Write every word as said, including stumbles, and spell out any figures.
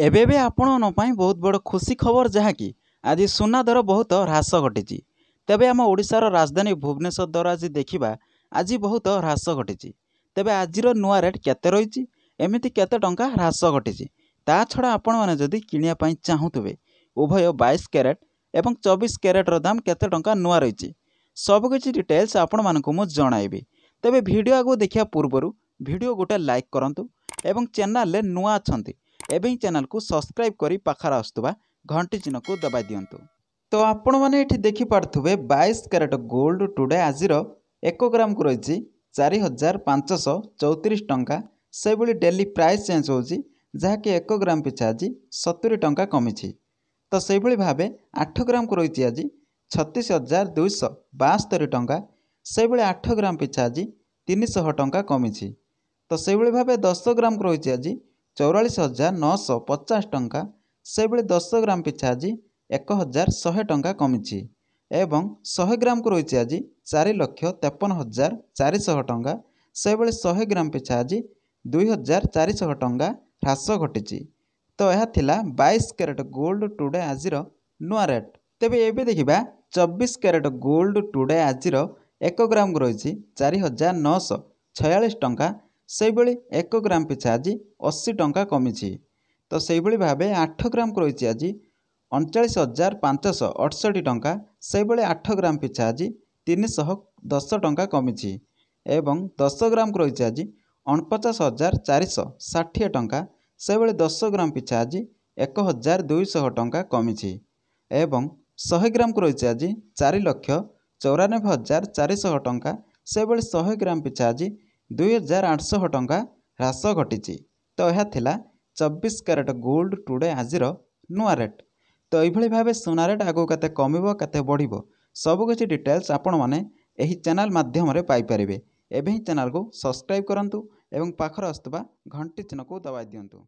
ଏବେ ଏବେ ଆପଣଙ୍କ ପାଇଁ ବହୁତ ବଡ଼ ଖୁସି ଖବର ଯାହାକି ଆଜି ସୁନା ଦର ବହୁତ ହ୍ରାସ ଘଟିଛି। ତେବେ ଆମ ଓଡ଼ିଶାର ରାଜଧାନୀ ଭୁବନେଶ୍ୱର ଦର ଆଜି ଦେଖିବା ଆଜି ବହୁତ ହ୍ରାସ ଘଟିଛି। ତେବେ ଆଜିର ନୂଆ ରେଟ୍ କେତେ ରହିଛି, ଏମିତି କେତେ ଟଙ୍କା ହ୍ରାସ ଘଟିଛି, ତା ଛଡ଼ା ଆପଣମାନେ ଯଦି କିଣିବା ପାଇଁ ଚାହୁଁଥିବେ ଉଭୟ ବାଇଶ କ୍ୟାରେଟ୍ ଏବଂ ଚବିଶ କ୍ୟାରେଟ୍ର ଦାମ କେତେ ଟଙ୍କା ନୂଆ ରହିଛି, ସବୁକିଛି ଡିଟେଲ୍ସ ଆପଣମାନଙ୍କୁ ମୁଁ ଜଣାଇବି। ତେବେ ଭିଡ଼ିଓ ଆଗକୁ ଦେଖିବା ପୂର୍ବରୁ ଭିଡ଼ିଓ ଗୋଟେ ଲାଇକ୍ କରନ୍ତୁ ଏବଂ ଚ୍ୟାନେଲରେ ନୂଆ ଅଛନ୍ତି ଏବେ ହିଁ ଚ୍ୟାନେଲକୁ ସବସ୍କ୍ରାଇବ୍ କରି ପାଖରେ ଆସୁଥିବା ଘଣ୍ଟି ଚିହ୍ନକୁ ଦବାଇ ଦିଅନ୍ତୁ। ତ ଆପଣମାନେ ଏଠି ଦେଖିପାରୁଥିବେ ବାଇଶ କ୍ୟାରେଟ୍ ଗୋଲ୍ଡ ଟୁଡେ ଆଜିର ଏକ ଗ୍ରାମକୁ ରହିଛି ଚାରି ହଜାର ପାଞ୍ଚଶହ ଚଉତିରିଶ ଟଙ୍କା। ସେହିଭଳି ଡେଲି ପ୍ରାଇସ୍ ଚେଞ୍ଜ ହେଉଛି, ଯାହାକି ଏକ ଗ୍ରାମ ପିଛା ଆଜି ସତୁରି ଟଙ୍କା କମିଛି। ତ ସେହିଭଳି ଭାବେ ଆଠ ଗ୍ରାମକୁ ରହିଛି ଆଜି ଛତିଶ ହଜାର ଦୁଇଶହ ବାସ୍ତରି ଟଙ୍କା। ସେହିଭଳି ଆଠ ଗ୍ରାମ ପିଛା ଆଜି ତିନିଶହ ଟଙ୍କା କମିଛି। ତ ସେହିଭଳି ଭାବେ ଦଶ ଗ୍ରାମକୁ ରହିଛି ଆଜି ଚଉରାଳିଶ ହଜାର ନଅଶହ ପଚାଶ ଟଙ୍କା। ସେହିଭଳି ଦଶ ଗ୍ରାମ ପିଛା ଆଜି ଏକ ହଜାର ଶହେ ଟଙ୍କା କମିଛି ଏବଂ ଶହେ ଗ୍ରାମକୁ ରହିଛି ଆଜି ଚାରି ଲକ୍ଷ ତେପନ ହଜାର ଚାରିଶହ ଟଙ୍କା। ସେହିଭଳି ଶହେ ଗ୍ରାମ ପିଛା ଆଜି ଦୁଇ ହଜାର ଚାରିଶହ ଟଙ୍କା ହ୍ରାସ ଘଟିଛି। ତ ଏହା ଥିଲା ବାଇଶ କ୍ୟାରେଟ୍ ଗୋଲ୍ଡ ଟୁଡେ ଆଜିର ନୂଆ ରେଟ୍। ତେବେ ଏବେ ଦେଖିବା ଚବିଶ କ୍ୟାରେଟ୍ ଗୋଲ୍ଡ ଟୁଡେ ଆଜିର ଏକ ଗ୍ରାମକୁ ରହିଛି ଚାରି ହଜାର ନଅଶହ ଛୟାଳିଶ ଟଙ୍କା। ସେହିଭଳି ଏକ ଗ୍ରାମ ପିଛା ଆଜି ଅଶୀ ଟଙ୍କା କମିଛି। ତ ସେହିଭଳି ଭାବେ ଆଠ ଗ୍ରାମକୁ ରହିଛି ଆଜି ଅଣଚାଳିଶ ହଜାର ପାଞ୍ଚଶହ ଅଠଷଠି ଟଙ୍କା। ସେହିଭଳି ଆଠ ଗ୍ରାମ ପିଛା ଆଜି ତିନିଶହ ଦଶ ଟଙ୍କା କମିଛି ଏବଂ ଦଶ ଗ୍ରାମକୁ ରହିଛି ଆଜି ଅଣପଚାଶ ହଜାର ଚାରିଶହ ଷାଠିଏ ଟଙ୍କା। ସେହିଭଳି ଦଶ ଗ୍ରାମ ପିଛା ଆଜି ଏକ ହଜାର ଦୁଇଶହ ଟଙ୍କା କମିଛି ଏବଂ ଶହେ ଗ୍ରାମକୁ ରହିଛି ଆଜି ଚାରି ଲକ୍ଷ ଚଉରାନବେ ହଜାର ଚାରିଶହ ଟଙ୍କା। ସେହିଭଳି ଶହେ ଗ୍ରାମ ପିଛା ଆଜି ଦୁଇ ହଜାର ଆଠଶହ ଟଙ୍କା ହ୍ରାସ ଘଟିଛି। ତ ଏହା ଥିଲା ଚବିଶ କ୍ୟାରେଟ୍ ଗୋଲ୍ଡ ଟୁଡେ ଆଜିର ନୂଆ ରେଟ୍। ତ ଏଇଭଳି ଭାବେ ସୁନା ରେଟ୍ ଆଗକୁ କେତେ କମିବ କେତେ ବଢ଼ିବ ସବୁକିଛି ଡିଟେଲ୍ସ ଆପଣମାନେ ଏହି ଚ୍ୟାନେଲ୍ ମାଧ୍ୟମରେ ପାଇପାରିବେ। ଏବେ ହିଁ ଚ୍ୟାନେଲକୁ ସବସ୍କ୍ରାଇବ୍ କରନ୍ତୁ ଏବଂ ପାଖରେ ଆସୁଥିବା ଘଣ୍ଟି ଚିହ୍ନକୁ ଦବାଇ ଦିଅନ୍ତୁ।